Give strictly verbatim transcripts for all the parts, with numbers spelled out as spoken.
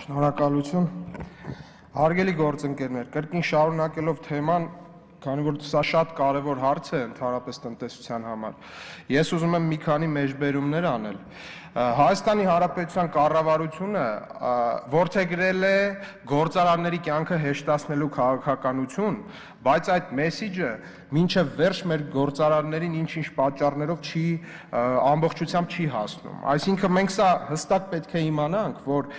Շնորհակալություն, հարգելի գործընկերներ, կրկին շարունակելով թեման, քանի որ սա շատ կարևոր հարց է ընդհանրապես տնտեսության համար, ես ուզում եմ մի քանի մեջբերումներ անել։ Հայաստանի Հանրապետության կառավարությունը որդեգրել է գործարանների կյանքը հեշտացնելու քաղաքականություն, բայց այդ մեսիջը մինչև վերջ մեր գործարաններին ինչ-ինչ պատճառներով չի ամբողջությամբ չի հասնում։ Այսինքն մենք սա հստակ պետք է իմանանք, որ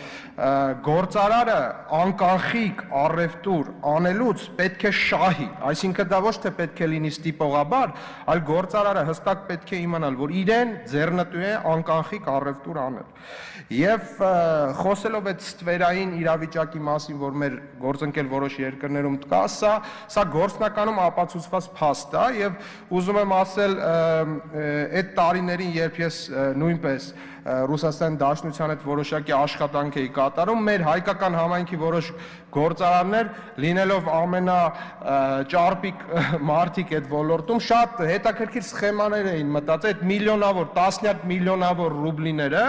գործարարը անկանխիկ առևտուր անելուց պետք է շահի, այսինքն դա ոչ թե պետք է լինի ստիպողաբար, այլ գործարարը հստակ պետք է իմանալ, որ իրեն ձեռնտու է անկանխիկ առևտուր անել։ Եվ խոսելով այդ ստվերային իրավիճակի մասին, որ մեր գործընկեր որոշ երկրներում կա, սա սա գործնականում ապացուցված փաստ է եւ ուզում եմ ասել այդ տարիներին, երբ ես նույնպես Ռուսաստանի Դաշնության հետ որոշակի աշխատանք էի կատարում, մեր հայկական համայնքի որոշ գործարաններ, լինելով ամենաճարպիկ մարդիկ այդ ոլորտում, շատ հետաքրքիր սխեմաներ էին մտածել, այդ միլիոնավոր, տասնյակ միլիոնավոր ռուբլիները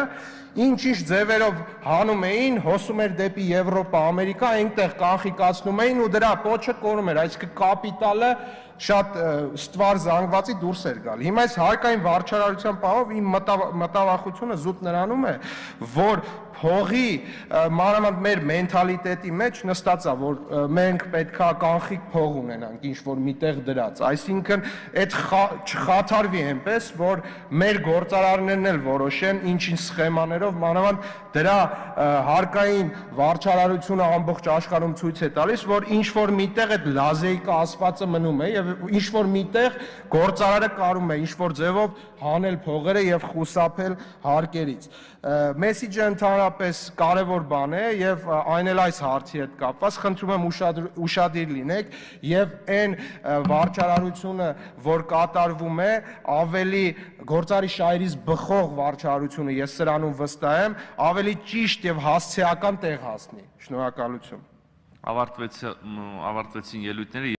ինչ-ինչ ձևերով հանում էին, հոսում էր դեպի Եվրոպա, Ամերիկա, այնտեղ կանխիկացնում էին ու դրա պոչը կորում էր, այսինքն կապիտալը շատ ստվար զանգվածի դուրս էր գալ։ Հիմա այս հարկային վարչարարության պահով իմ մտավախությունը զուտ նրանում է, որ փողի մանավանդ մեր մենթալիտետի մեջ նստած է, որ մենք պետքա կանխիկ փող ունենանք ինչ-որ միտեղ դրած, այսինքն այդ չխաթարվի այնպես, որ մեր գործարարներն էլ որոշեն ինչ-ինչ սխեմաներով, մանավանդ դրա հարկային վարչարարությունը ամբողջ աշխարհում ցույց է տալիս, որ ինչ-որ միտեղ այդ լազեիկա ասվածը մնում է եւ ինչ-որ միտեղ գործարարը կարում է ինչ-որ ձևով հանել փողերը եւ խուսափել հարկերից։ Մեսիջը ընդհանրապես կարևոր բան է եւ այն էլ այս հարցի հետ կապված խնդրում եմ ուշադիր լինեք եւ այն վարչարարությունը, որ կատարվում է, ավելի գործարի շահերից բխող վարչարարությունը, ես սրանում վստահ եմ, ավելի ճիշտ եւ հասցեական տեղ հասնի։ Շնորհակալություն։ Ավարտվեցին ելույթները